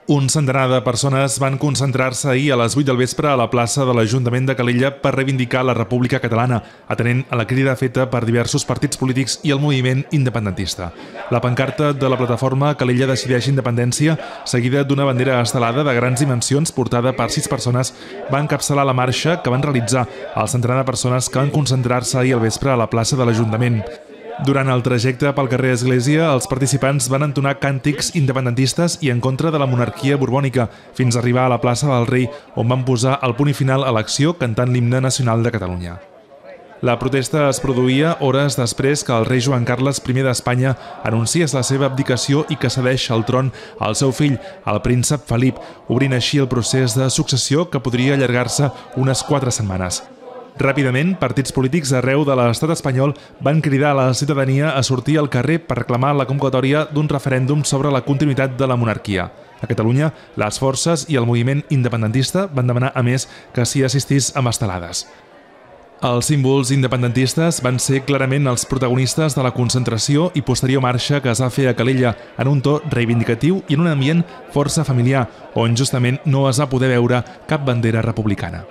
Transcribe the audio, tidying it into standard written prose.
Un centenar de persones van concentrar-se ahir a les 8 del vespre a la plaça de l'Ajuntament de Calella per reivindicar la República Catalana, atenent a la crida feta per diversos partits polítics i el moviment independentista. La pancarta de la plataforma Calella decideix independència, seguida d'una bandera estelada de grans dimensions portada per 6 persones, va encapçalar la marxa que van realitzar el centenar de persones que van concentrar-se ahir al vespre a la plaça de l'Ajuntament. Durant el trajecte pel carrer Església, els participants van entonar càntics independentistes i en contra de la monarquia borbònica, fins a arribar a la plaça del Rei, on van posar el punt final a l'acció cantant l'himne nacional de Catalunya. La protesta es produïa hores després que el rei Joan Carles I d'Espanya anunciés la seva abdicació i que cedeix el tron al seu fill, el príncep Felip, obrint així el procés de successió que podria allargar-se unes 4 setmanes. Ràpidament, partits polítics arreu de l'estat espanyol van cridar a la ciutadania a sortir al carrer per reclamar la convocatòria d'un referèndum sobre la continuïtat de la monarquia. A Catalunya, les forces i el moviment independentista van demanar, a més, que s'hi assistís amb estelades. Els símbols independentistes van ser clarament els protagonistes de la concentració i posterior marxa que es va fer a Calella, en un to reivindicatiu i en un ambient força familiar, on justament no es va poder veure cap bandera republicana.